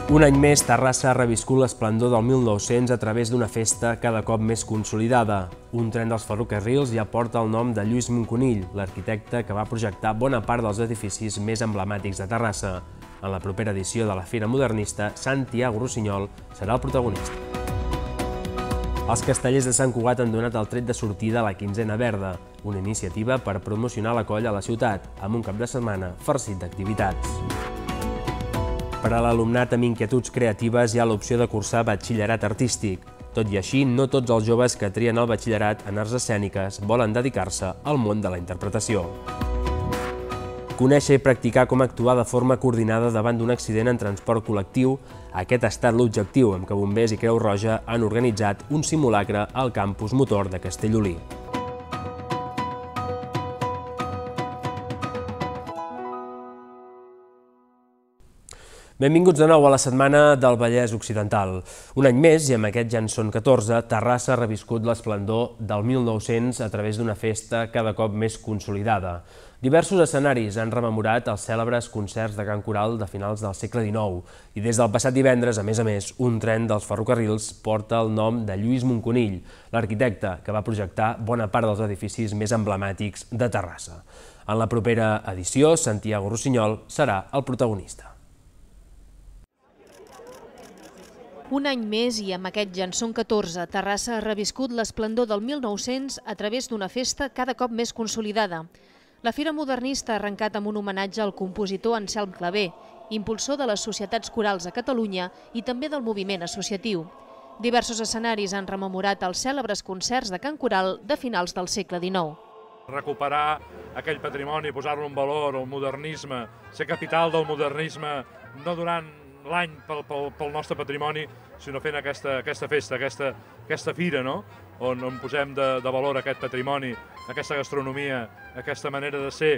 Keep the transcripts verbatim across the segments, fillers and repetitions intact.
Un any més, Terrassa ha reviscut l'esplendor del mil nou-cents a través d'una festa cada cop més consolidada. Un tren dels ferrocarrils ja porta el nom de Lluís Moncunill, l'arquitecte que va projectar bona part dels edificis més emblemàtics de Terrassa. En la propera edició de la Fira Modernista, Santiago Rossinyol serà el protagonista. Els castellers de Sant Cugat han donat el tret de sortida a la Quinzena Verda, una iniciativa per promocionar la colla a la ciutat, amb un cap de setmana farcit d'activitats. Per a l'alumnat amb inquietuds creatives hi ha l'opció de cursar batxillerat artístic. Tot i així, no tots els joves que trien el batxillerat en arts escèniques volen dedicar-se al món de la interpretació. Conèixer i practicar com actuar de forma coordinada davant d'un accident en transport col·lectiu, aquest ha estat l'objectiu amb què Bombers i Creu Roja han organitzat un simulacre al campus motor de Castellolí. Benvinguts de nou a la Setmana del Vallès Occidental. Un any més, i amb aquest ja en són catorze, Terrassa ha reviscut l'esplendor del mil nou-cents a través d'una festa cada cop més consolidada. Diversos escenaris han rememorat els cèlebres concerts de cant coral de finals del segle dinou i des del passat divendres, a més a més, un tren dels ferrocarrils porta el nom de Lluís Moncunill, l'arquitecte que va projectar bona part dels edificis més emblemàtics de Terrassa. En la propera edició, Santiago Rossinyol serà el protagonista. Un any més i amb aquest ja en són catorze, Terrassa ha reviscut l'esplendor del mil nou-cents a través d'una festa cada cop més consolidada. La Fira Modernista ha arrencat amb un homenatge al compositor Anselm Clavé, impulsor de les societats corals a Catalunya i també del moviment associatiu. Diversos escenaris han rememorat els cèlebres concerts de cant coral de finals del segle dinou. Recuperar aquell patrimoni, posar-lo en valor, el modernisme, ser capital del modernisme, no durant l'any pel, pel, pel nostre patrimoni, sinó fent aquesta, aquesta festa, aquesta, aquesta fira, no? on, on posem de, de valor aquest patrimoni, aquesta gastronomia, aquesta manera de ser.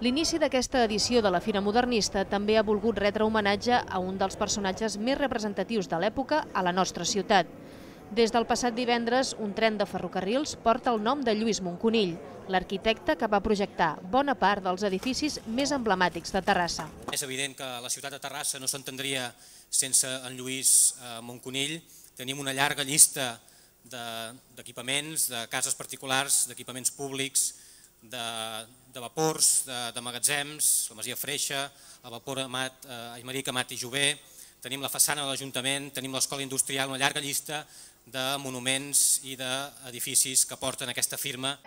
L'inici d'aquesta edició de la Fira Modernista també ha volgut retre homenatge a un dels personatges més representatius de l'època a la nostra ciutat. Des del passat divendres, un tren de ferrocarrils porta el nom de Lluís Moncunill, l'arquitecte que va projectar bona part dels edificis més emblemàtics de Terrassa. És evident que la ciutat de Terrassa no s'entendria sense en Lluís Moncunill. Tenim una llarga llista d'equipaments, de cases particulars, d'equipaments públics, de, de vapors, de, de magatzems, la Masia Freixa, el vapor Amat, eh, Aimeric Amat i Jové. Tenim la façana de l'Ajuntament, tenim l'escola industrial, una llarga llista de monuments i d'edificis que porten aquesta firma.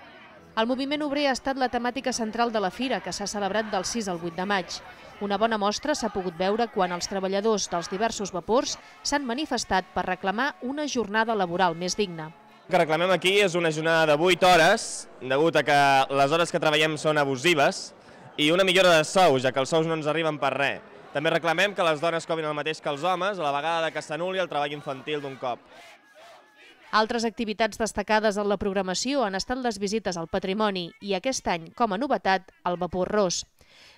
El moviment obrer ha estat la temàtica central de la fira, que s'ha celebrat del sis al vuit de maig. Una bona mostra s'ha pogut veure quan els treballadors dels diversos vapors s'han manifestat per reclamar una jornada laboral més digna. El que reclamem aquí és una jornada de vuit hores, degut a que les hores que treballem són abusives, i una millora de sous, ja que els sous no ens arriben per res. També reclamem que les dones cobrin el mateix que els homes, a la vegada que s'anul·li el treball infantil d'un cop. Altres activitats destacades en la programació han estat les visites al patrimoni i aquest any, com a novetat, el vapor ros.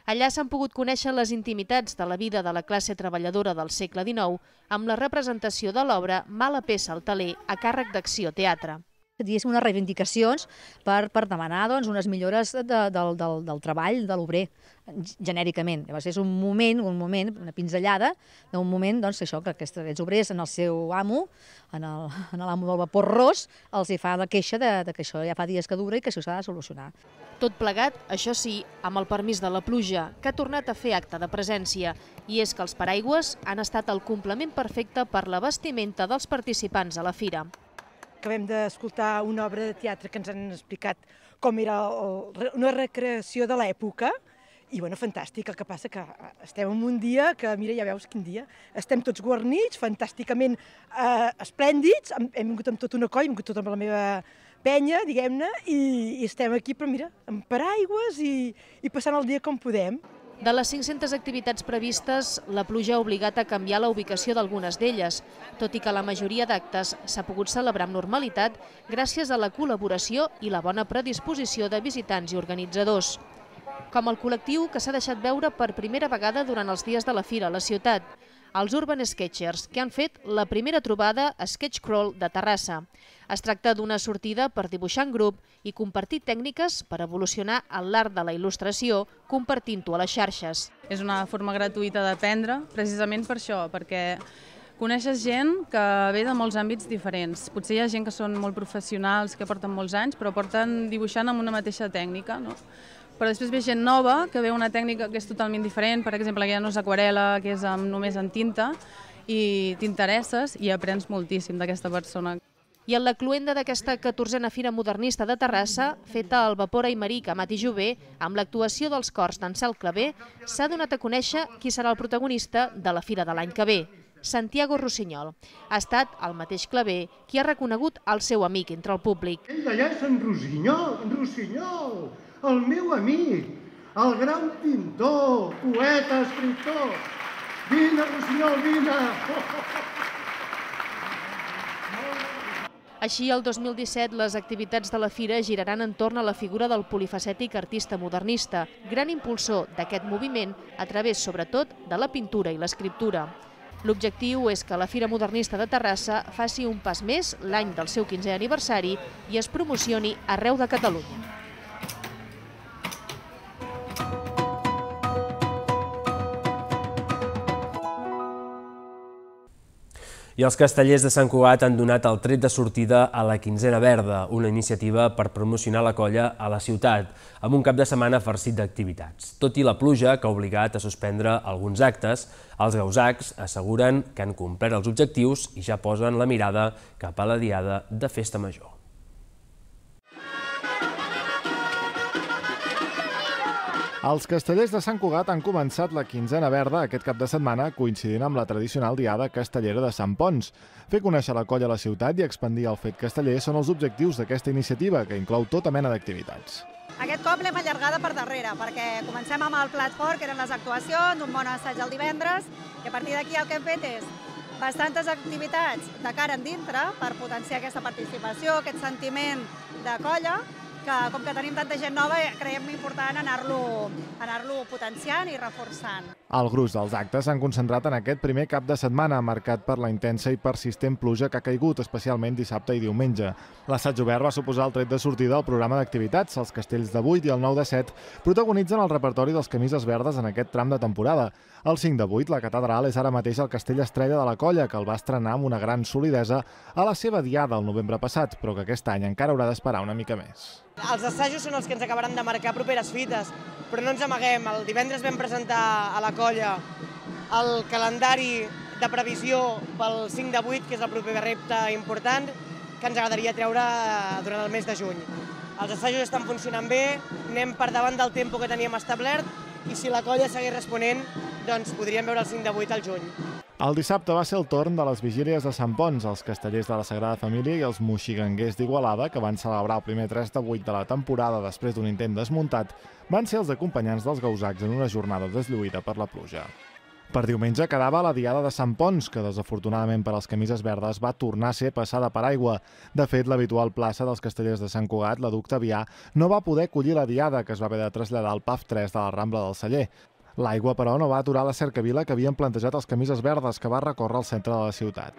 Allà s'han pogut conèixer les intimitats de la vida de la classe treballadora del segle dinou amb la representació de l'obra Mala peça al teler a càrrec d'Acció Teatre. Diguéssim, unes reivindicacions per, per demanar doncs, unes millores de, de, del, del, del treball de l'obrer, genèricament. Llavors és un moment, un moment, una pinzellada d'un moment, doncs, això, que aquests, aquests obrers en el seu amo, en l'amo del vapor ros, els hi fa la queixa de, de que això ja fa dies que dura i que això s'ha de solucionar. Tot plegat, això sí, amb el permís de la pluja, que ha tornat a fer acte de presència, i és que els paraigües han estat el complement perfecte per la vestimenta dels participants a la fira. Acabem d'escoltar una obra de teatre que ens han explicat com era el, una recreació de l'època i, bueno, fantàstic. El que passa que estem en un dia que, mira, ja veus quin dia, estem tots guarnits, fantàsticament eh, esplèndids, hem, hem vingut amb tota una colla, hem vingut tota amb la meva penya, diguem-ne, i, i estem aquí, però mira, amb paraigües i, i passant el dia com podem. De les cinc-centes activitats previstes, la pluja ha obligat a canviar la ubicació d'algunes d'elles, tot i que la majoria d'actes s'ha pogut celebrar amb normalitat gràcies a la col·laboració i la bona predisposició de visitants i organitzadors. Com el col·lectiu que s'ha deixat veure per primera vegada durant els dies de la fira a la ciutat. els Urban Sketchers, que han fet la primera trobada a Sketch Crawl de Terrassa. Es tracta d'una sortida per dibuixar en grup i compartir tècniques per evolucionar en l'art de la il·lustració, compartint-ho a les xarxes. És una forma gratuïta d'aprendre, precisament per això, perquè coneixes gent que ve de molts àmbits diferents. Potser hi ha gent que són molt professionals, que porten molts anys, però porten dibuixant amb una mateixa tècnica, no? Però després ve gent nova que ve una tècnica que és totalment diferent, per exemple, que ja no és aquarel·la, que és amb, només en tinta, i t'interesses i aprens moltíssim d'aquesta persona. I en la cluenda d'aquesta catorzena Fira Modernista de Terrassa, feta al vapor Aimeric, Amat i Jové, amb l'actuació dels cors d'Ancel Clavé, s'ha donat a conèixer qui serà el protagonista de la fira de l'any que ve, Santiago Rossinyol. Ha estat el mateix Clavé qui ha reconegut el seu amic entre el públic. Ell d'allà és en Rossinyol, en Rossinyol, el meu amic, el gran pintor, poeta, escriptor. Vine, Rossinyol, vine! Així, el dos mil disset, les activitats de la fira giraran entorn a la figura del polifacètic artista modernista, gran impulsor d'aquest moviment a través, sobretot, de la pintura i l'escriptura. L'objectiu és que la Fira Modernista de Terrassa faci un pas més l'any del seu quinzè aniversari i es promocioni arreu de Catalunya. I els castellers de Sant Cugat han donat el tret de sortida a la Quinzena Verda, una iniciativa per promocionar la colla a la ciutat, amb un cap de setmana farcit d'activitats. Tot i la pluja, que ha obligat a suspendre alguns actes, els gausacs asseguren que han complert els objectius i ja posen la mirada cap a la diada de Festa Major. Els castellers de Sant Cugat han començat la Quinzena Verda aquest cap de setmana coincidint amb la tradicional diada castellera de Sant Ponç. Fer conèixer la colla a la ciutat i expandir el fet casteller són els objectius d'aquesta iniciativa, que inclou tota mena d'activitats. Aquest cop l'hem allargada per darrere, perquè comencem amb el plat fort, que eren les actuacions, un bon assaig el divendres, i a partir d'aquí el que hem fet és bastantes activitats de cara endintre per potenciar aquesta participació, aquest sentiment de colla, que com que tenim tanta gent nova, creiem important anar-lo anar-lo potenciant i reforçant. El gruix dels actes s'han concentrat en aquest primer cap de setmana, marcat per la intensa i persistent pluja que ha caigut, especialment dissabte i diumenge. L'assaig obert va suposar el tret de sortida al programa d'activitats. Els castells de vuit i el nou de set protagonitzen el repertori dels camises verdes en aquest tram de temporada. El cinc de vuit, la catedral, és ara mateix el castell estrella de la colla, que el va estrenar amb una gran solidesa a la seva diada el novembre passat, però que aquest any encara haurà d'esperar una mica més. Els assajos són els que ens acabaran de marcar properes fites, però no ens amaguem. El divendres vam presentar a la colla el calendari de previsió pel cinc de vuit, que és el proper repte important, que ens agradaria treure durant el mes de juny. Els assajos estan funcionant bé, anem per davant del tempo que teníem establert, i si la colla segueix responent, doncs podríem veure el cinc de vuit al juny. El dissabte va ser el torn de les vigílies de Sant Ponç. Els castellers de la Sagrada Família i els moxiganguers d'Igualada, que van celebrar el primer tres de vuit de la temporada després d'un intent desmuntat, van ser els acompanyants dels gausacs en una jornada deslluïda per la pluja. Per diumenge quedava la diada de Sant Ponç, que desafortunadament per als camises verdes va tornar a ser passada per aigua. De fet, l'habitual plaça dels castellers de Sant Cugat, la Duc Tavià, no va poder acollir la diada, que es va haver de traslladar al P A F tres de la Rambla del Celler. L'aigua, però, no va aturar la cercavila que havien plantejat els camises verdes, que va recórrer el centre de la ciutat.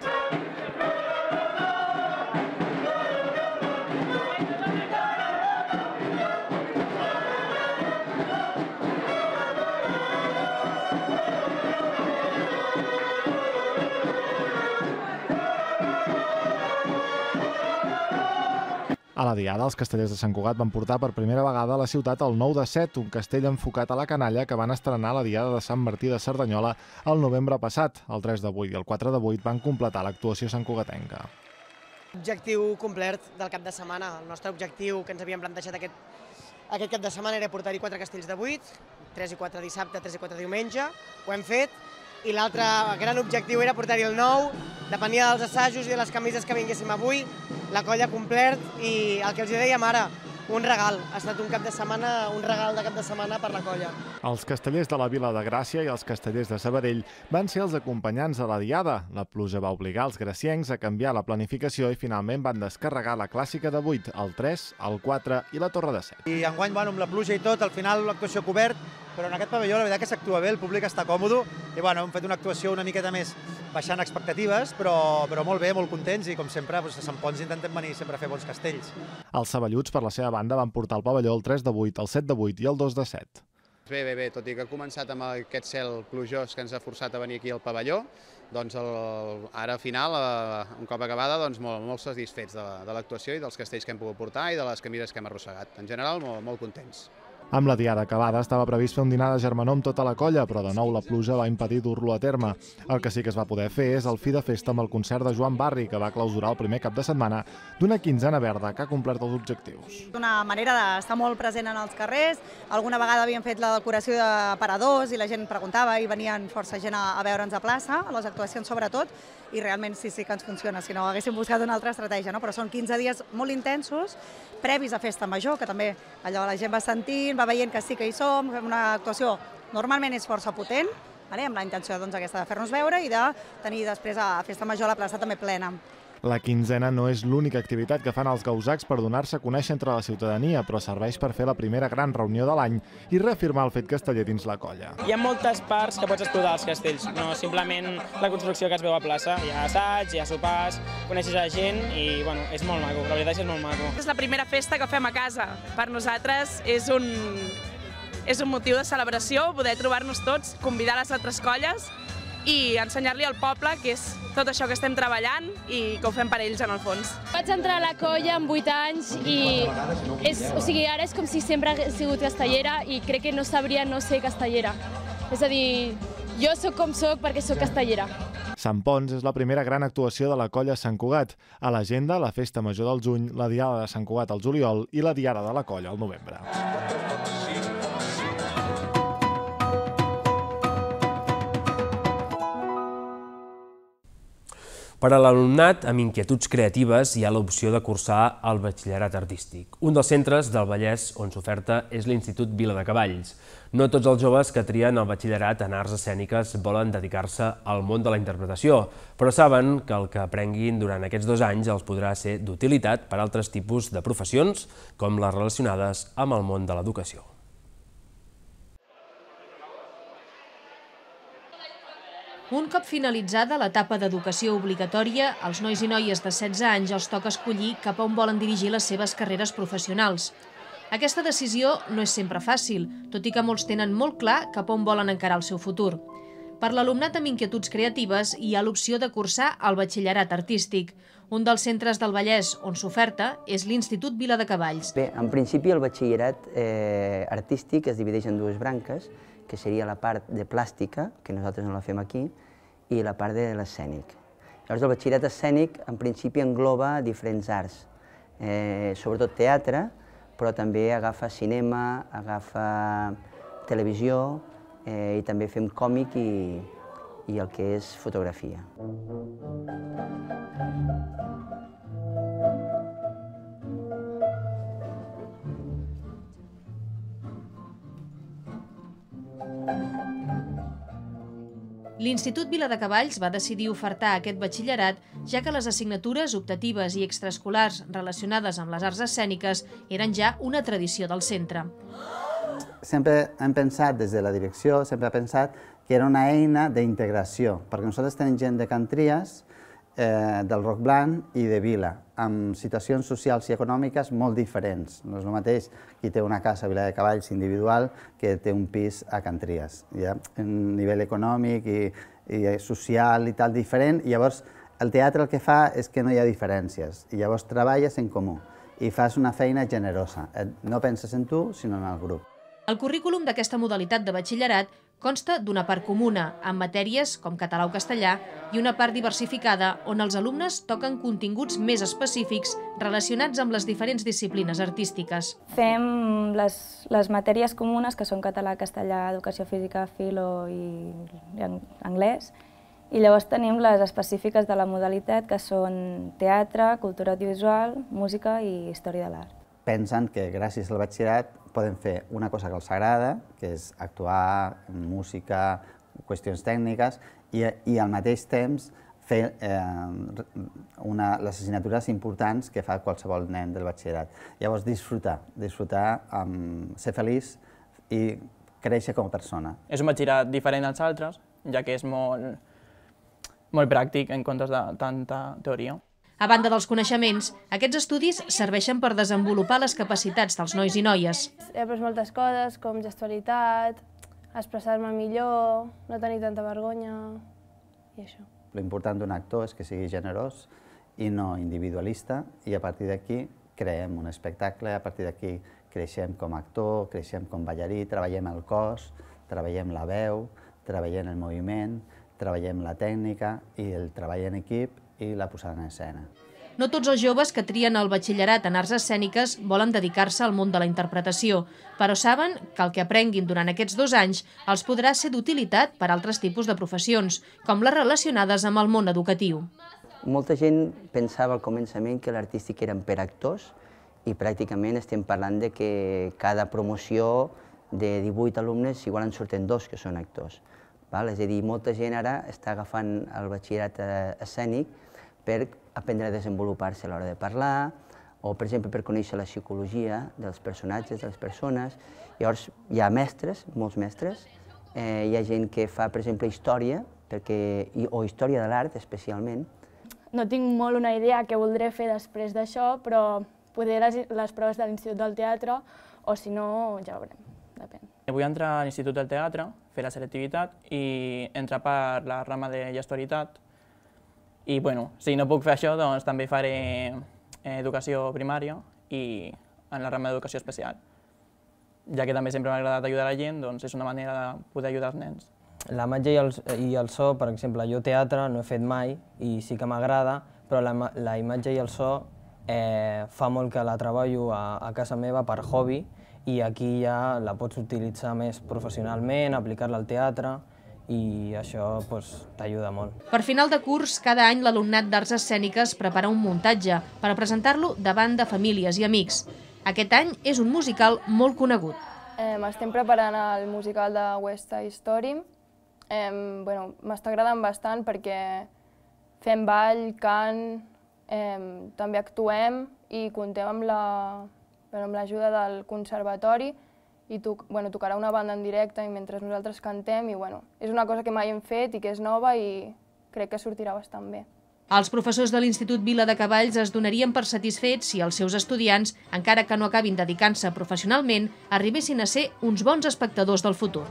A la diada, els castellers de Sant Cugat van portar per primera vegada a la ciutat el nou de set, un castell enfocat a la canalla que van estrenar a la diada de Sant Martí de Cerdanyola el novembre passat. El tres de vuit i el quatre de vuit van completar l'actuació santcugatenca. Objectiu complert del cap de setmana. El nostre objectiu que ens havíem plantejat aquest, aquest cap de setmana era portar-hi quatre castells de vuit, tres i quatre dissabte, tres i quatre diumenge. Ho hem fet. I l'altre gran objectiu era portar-hi el nou, depenia dels assajos i de les camises que vinguéssim avui, la colla complert i el que els dèiem ara, un regal. Ha estat un cap de setmana, un regal de cap de setmana per la colla. Els castellers de la Vila de Gràcia i els castellers de Sabadell van ser els acompanyants de la diada. La pluja va obligar els graciencs a canviar la planificació i finalment van descarregar la clàssica de vuit, el tres, el quatre i la torre de set. I enguany, bueno, amb la pluja i tot, al final l'actuació cobert, però en aquest pavelló la veritat que s'actua bé, el públic està còmode i bueno, hem fet una actuació una miqueta més baixant expectatives, però, però molt bé, molt contents i com sempre doncs, a Sant Ponç intentem venir sempre a fer bons castells. Els saballuts, per la seva banda, van portar el pavelló el tres de vuit, el set de vuit i el dos de set. Bé, bé, bé, tot i que ha començat amb aquest cel plujós que ens ha forçat a venir aquí al pavelló, doncs el, ara al final, eh, un cop acabada, doncs molt, molt satisfets de, de l'actuació i dels castells que hem pogut portar i de les camires que hem arrossegat. En general, molt, molt contents. Amb la diada acabada estava previst fer un dinar de germanor amb tota la colla, però de nou la pluja va impedir dur-lo a terme. El que sí que es va poder fer és el fi de festa amb el concert de Joan Barri, que va clausurar el primer cap de setmana d'una quinzena verda que ha complert els objectius. Una manera d'estar molt present en els carrers. Alguna vegada havíem fet la decoració de paradors i la gent preguntava i venien força gent a, a veure'ns a plaça, a les actuacions sobretot, i realment sí, sí que ens funciona, si no haguéssim buscat una altra estratègia, no? Però són quinze dies molt intensos, previs a Festa Major, que també allò la gent va sentint, va veient que sí que hi som, fem una actuació normalment és força potent, vale? Amb la intenció doncs, aquesta de fer-nos veure i de tenir després a Festa Major la plaça també plena. La quinzena no és l'única activitat que fan els gausacs per donar-se a conèixer entre la ciutadania, però serveix per fer la primera gran reunió de l'any i reafirmar el fet casteller dins la colla. Hi ha moltes parts que pots explotar als castells, no simplement la construcció que es veu a plaça. Hi ha assaig, hi ha sopars, coneixes a gent i bueno, és molt maco, la veritat és que és molt maco. És la primera festa que fem a casa. Per nosaltres és un, és un motiu de celebració poder trobar-nos tots, convidar les altres colles i ensenyar-li al poble que és tot això que estem treballant i que ho fem per ells en el fons. Vaig entrar a la colla amb vuit anys i és, o sigui, ara és com si sempre hagués sigut castellera i crec que no sabria no ser castellera. És a dir, jo sóc com sóc perquè sóc castellera. Sant Ponç és la primera gran actuació de la colla Sant Cugat. A l'agenda, la Festa Major del juny, la Diada de Sant Cugat al juliol i la Diada de la colla al novembre. Per a l'alumnat amb inquietuds creatives hi ha l'opció de cursar el batxillerat artístic. Un dels centres del Vallès on s'oferta és l'Institut Viladecavalls. No tots els joves que trien el batxillerat en arts escèniques volen dedicar-se al món de la interpretació, però saben que el que aprenguin durant aquests dos anys els podrà ser d'utilitat per a altres tipus de professions, com les relacionades amb el món de l'educació. Un cop finalitzada l'etapa d'educació obligatòria, als nois i noies de setze anys els toca escollir cap a on volen dirigir les seves carreres professionals. Aquesta decisió no és sempre fàcil, tot i que molts tenen molt clar cap a on volen encarar el seu futur. Per l'alumnat amb inquietuds creatives hi ha l'opció de cursar el batxillerat artístic. Un dels centres del Vallès on s'oferta és l'Institut Viladecavalls. Bé, en principi el batxillerat eh, artístic es divideix en dues branques, que seria la part de plàstica, que nosaltres no la fem aquí, i la part de l'escènic. Llavors el batxillerat escènic en principi engloba diferents arts, eh, sobretot teatre, però també agafa cinema, agafa televisió eh, i també fem còmic i, i el que és fotografia. L'Institut Viladecavalls va decidir ofertar aquest batxillerat ja que les assignatures optatives i extraescolars relacionades amb les arts escèniques eren ja una tradició del centre. Sempre hem pensat, des de la direcció, sempre hem pensat que era una eina d'integració, perquè nosaltres tenim gent de Can Trias, eh, del Roc Blanc i de Vila, amb situacions socials i econòmiques molt diferents. No és el mateix qui té una casa a Viladecavalls individual que té un pis a Can Trias. Hi ha un nivell econòmic i, i social i tal diferent, i llavors el teatre el que fa és que no hi ha diferències, i llavors treballes en comú i fas una feina generosa. No penses en tu, sinó en el grup. El currículum d'aquesta modalitat de batxillerat consta d'una part comuna, amb matèries com català o castellà, i una part diversificada, on els alumnes toquen continguts més específics relacionats amb les diferents disciplines artístiques. Fem les, les matèries comunes, que són català, castellà, educació física, filo i anglès, i llavors tenim les específiques de la modalitat, que són teatre, cultura audiovisual, música i història de l'art. Pensen que gràcies al batxillerat poden fer una cosa que els agrada, que és actuar, música, qüestions tècniques, i, i al mateix temps fer eh, una, les assignatures importants que fa qualsevol nen del batxillerat. Llavors disfrutar, disfrutar, um, ser feliç i créixer com a persona. És un batxillerat diferent als altres, ja que és molt, molt pràctic en comptes de tanta teoria. A banda dels coneixements, aquests estudis serveixen per desenvolupar les capacitats dels nois i noies. He après moltes coses, com gestualitat, expressar-me millor, no tenir tanta vergonya i això. L'important d'un actor és que sigui generós i no individualista, i a partir d'aquí creem un espectacle, a partir d'aquí creixem com a actor, creixem com ballarí, treballem el cos, treballem la veu, treballem el moviment, treballem la tècnica i el treball en equip i la posada en escena. No tots els joves que trien el batxillerat en arts escèniques volen dedicar-se al món de la interpretació, però saben que el que aprenguin durant aquests dos anys els podrà ser d'utilitat per a altres tipus de professions, com les relacionades amb el món educatiu. Molta gent pensava al començament que l'artístic eren per actors i pràcticament estem parlant de que cada promoció de divuit alumnes igual en surten dos que són actors. És a dir, molta gent ara està agafant el batxillerat escènic per aprendre a desenvolupar-se a l'hora de parlar o, per exemple, per conèixer la psicologia dels personatges, de les persones. Llavors, hi ha mestres, molts mestres, hi ha gent que fa, per exemple, història, o història de l'art, especialment. No tinc molt una idea què voldré fer després d'això, però poder les proves de l'Institut del Teatre, o si no, ja veurem, depèn. Vull entrar a l'Institut del Teatre, fer la selectivitat i entrar per la rama de gestualitat. I, bueno, si no puc fer això, doncs també faré educació primària i en la rama d'educació especial. Ja que també sempre m'ha agradat ajudar la gent, doncs és una manera de poder ajudar els nens. La imatge i el so, per exemple, jo teatre no he fet mai i sí que m'agrada, però la imatge i el so fa molt que la treballo a casa meva per hobby i aquí ja la pots utilitzar més professionalment, aplicar-la al teatre i això t'ajuda molt. Per final de curs, cada any l'alumnat d'Arts Escèniques prepara un muntatge per presentar-lo davant de famílies i amics. Aquest any és un musical molt conegut. Estem preparant el musical de West Side Story. M'està agradant bastant perquè fem ball, cant, també actuem i comptem amb l'ajuda del conservatori i tocarà una banda en directe i mentre nosaltres cantem i és una cosa que mai hem fet i que és nova i crec que sortirà bastant bé. Els professors de l'Institut Vila de Cavalls es donarien per satisfets si els seus estudiants, encara que no acabin dedicant-se professionalment, arribessin a ser uns bons espectadors del futur.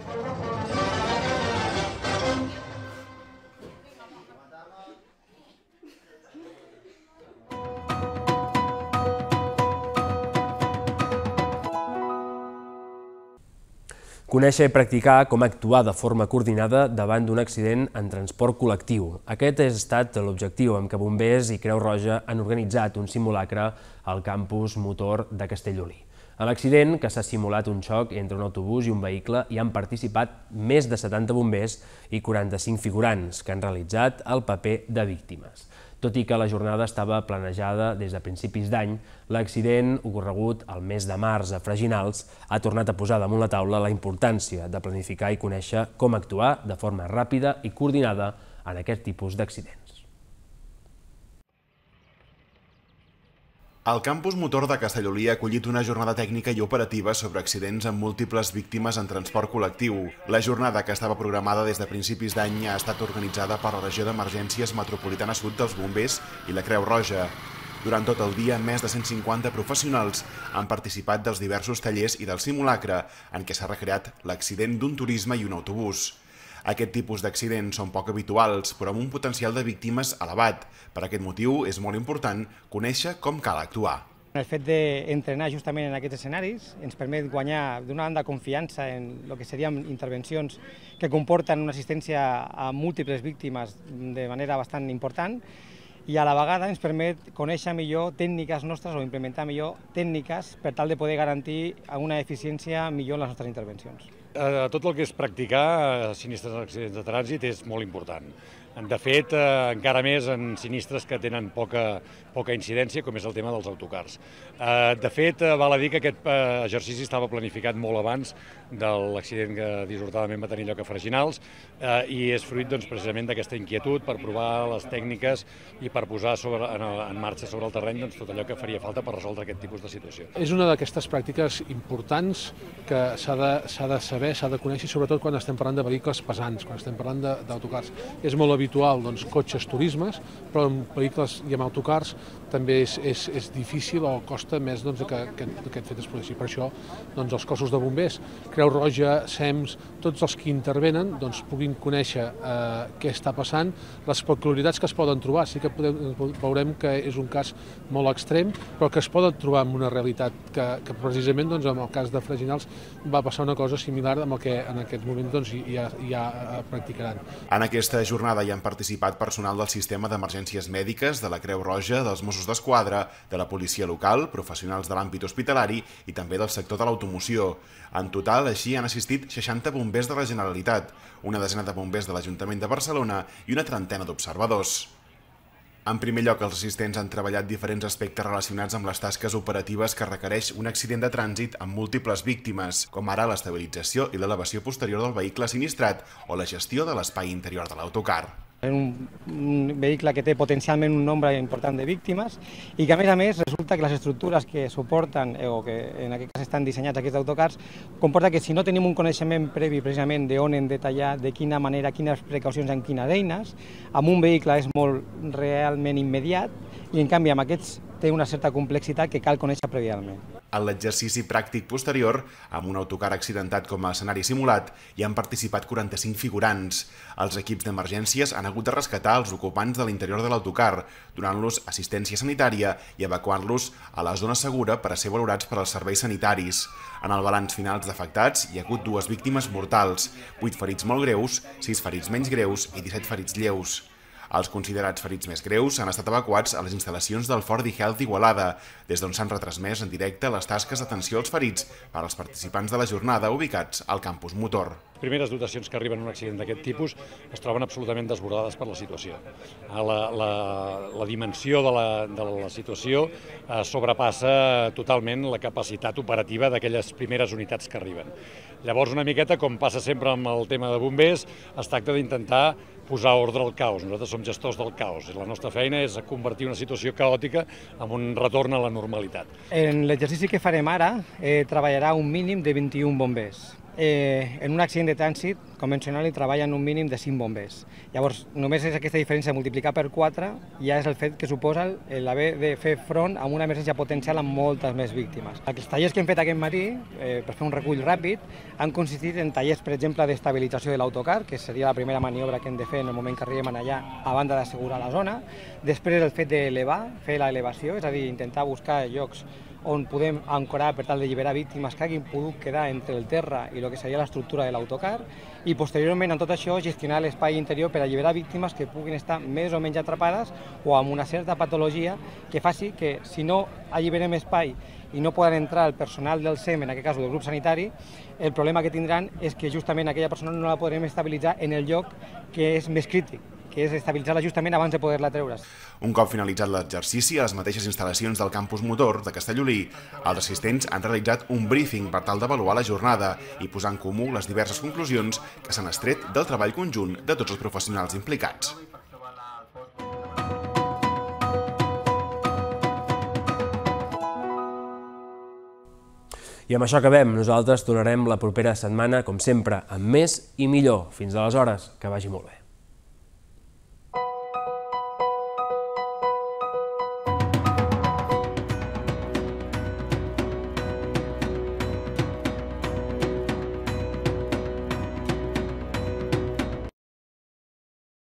Conèixer i practicar com actuar de forma coordinada davant d'un accident en transport col·lectiu. Aquest ha estat l'objectiu amb què Bombers i Creu Roja han organitzat un simulacre al campus motor de Castellolí. A l'accident, que s'ha simulat un xoc entre un autobús i un vehicle, hi han participat més de setanta bombers i quaranta-cinc figurants que han realitzat el paper de víctimes. Tot i que la jornada estava planejada des de principis d'any, l'accident ocorregut el mes de març a Freginals ha tornat a posar damunt la taula la importància de planificar i conèixer com actuar de forma ràpida i coordinada en aquest tipus d'accidents. El campus motor de Castellolí ha acollit una jornada tècnica i operativa sobre accidents amb múltiples víctimes en transport col·lectiu. La jornada, que estava programada des de principis d'any, ha estat organitzada per la Regió d'Emergències Metropolitana Sud dels Bombers i la Creu Roja. Durant tot el dia, més de cent cinquanta professionals han participat dels diversos tallers i del simulacre en què s'ha recreat l'accident d'un turisme i un autobús. Aquest tipus d'accidents són poc habituals, però amb un potencial de víctimes elevat. Per aquest motiu, és molt important conèixer com cal actuar. El fet d'entrenar justament en aquests escenaris ens permet guanyar d'una banda confiança en el que serien intervencions que comporten una assistència a múltiples víctimes de manera bastant important i a la vegada ens permet conèixer millor tècniques nostres o implementar millor tècniques per tal de poder garantir una eficiència millor en les nostres intervencions. Tot el que és practicar sinistres en accidents de trànsit és molt important. De fet, encara més en sinistres que tenen poca, poca incidència, com és el tema dels autocars. De fet, val a dir que aquest exercici estava planificat molt abans de l'accident que dissortadament va tenir lloc a Freginals i és fruit doncs, precisament d'aquesta inquietud per provar les tècniques i per posar sobre, en, en marxa sobre el terreny doncs, tot allò que faria falta per resoldre aquest tipus de situació. És una d'aquestes pràctiques importants que s'ha de, s'ha de saber, s'ha de conèixer, sobretot quan estem parlant de vehicles pesants, quan estem parlant d'autocars. És molt habitual doncs, cotxes turismes, però en vehicles i en autocars també és, és, és difícil o costa més doncs, que, que, que aquest fet es produeixi. Per això doncs, els cossos de bombers, Creu Roja, S E M S, tots els que intervenen doncs, puguin conèixer eh, què està passant, les peculiaritats que es poden trobar. Sí que podem, veurem que és un cas molt extrem, però que es poden trobar en una realitat que, que precisament doncs, en el cas de Freginals va passar una cosa similar amb el que en aquest moment doncs, ja, ja practicaran. En aquesta jornada hi han participat personal del sistema d'emergències mèdiques, de la Creu Roja, dels Mossos d'Esquadra, de la policia local, professionals de l'àmbit hospitalari i també del sector de l'automoció. En total, així, han assistit seixanta bombers de la Generalitat, una desena de bombers de l'Ajuntament de Barcelona i una trentena d'observadors. En primer lloc, els assistents han treballat diferents aspectes relacionats amb les tasques operatives que requereix un accident de trànsit amb múltiples víctimes, com ara l'estabilització i l'elevació posterior del vehicle sinistrat o la gestió de l'espai interior de l'autocar. És un, un vehicle que té potencialment un nombre important de víctimes i que, a més a més, resulta que les estructures que suporten o que en aquest cas estan dissenyats aquests autocars comporta que si no tenim un coneixement previ precisament d'on hem de tallar, de quina manera, quines precaucions amb quines eines, amb un vehicle és molt realment immediat i, en canvi, amb aquests té una certa complexitat que cal conèixer prèviament. En l'exercici pràctic posterior, amb un autocar accidentat com a escenari simulat, hi han participat quaranta-cinc figurants. Els equips d'emergències han hagut de rescatar els ocupants de l'interior de l'autocar, donant-los assistència sanitària i evacuant-los a la zona segura per a ser valorats per als serveis sanitaris. En el balanç final d'afectats hi ha hagut dues víctimes mortals, vuit ferits molt greus, sis ferits menys greus i disset ferits lleus. Els considerats ferits més greus han estat evacuats a les instal·lacions del Ford iHealth d'Igualada, des d'on s'han retransmès en directe les tasques d'atenció als ferits per als participants de la jornada ubicats al campus motor. Les primeres dotacions que arriben a un accident d'aquest tipus es troben absolutament desbordades per la situació. La, la, la dimensió de la, de la situació eh, sobrepassa totalment la capacitat operativa d'aquelles primeres unitats que arriben. Llavors, una miqueta, com passa sempre amb el tema de bombers, es tracta d'intentar posar ordre al caos. Nosaltres som gestors del caos i la nostra feina és convertir una situació caòtica en un retorn a la normalitat. En l'exercici que farem ara eh, treballarà un mínim de vint-i-un bombers. Eh, en un accident de trànsit convencional hi treballen un mínim de cinc bombers. Llavors, només és aquesta diferència multiplicar per quatre, ja és el fet que suposa l'haver de fer front a una emergència potencial amb moltes més víctimes. Els tallers que hem fet aquest matí, eh, per fer un recull ràpid, han consistit en tallers, per exemple, d'estabilització de l'autocar, que seria la primera maniobra que hem de fer en el moment que arribem allà, a banda d'assegurar la zona. Després el fet d'elevar, fer l'elevació, és a dir, intentar buscar llocs on podem ancorar per tal d'alliberar víctimes que hagin pogut quedar entre el terra i el que seria l'estructura de l'autocar i posteriorment en tot això gestionar l'espai interior per alliberar víctimes que puguin estar més o menys atrapades o amb una certa patologia que faci que si no alliberem espai i no poden entrar el personal del S E M, en aquest cas del grup sanitari, el problema que tindran és que justament aquella persona no la podrem estabilitzar en el lloc que és més crític, que és estabilitzar-la justament abans de poder-la treure. Un cop finalitzat l'exercici, a les mateixes instal·lacions del campus motor de Castellolí, els assistents han realitzat un briefing per tal d'avaluar la jornada i posar en comú les diverses conclusions que s'han extret del treball conjunt de tots els professionals implicats. I amb això acabem. Nosaltres tornarem la propera setmana, com sempre, amb més i millor. Fins aleshores, que vagi molt bé.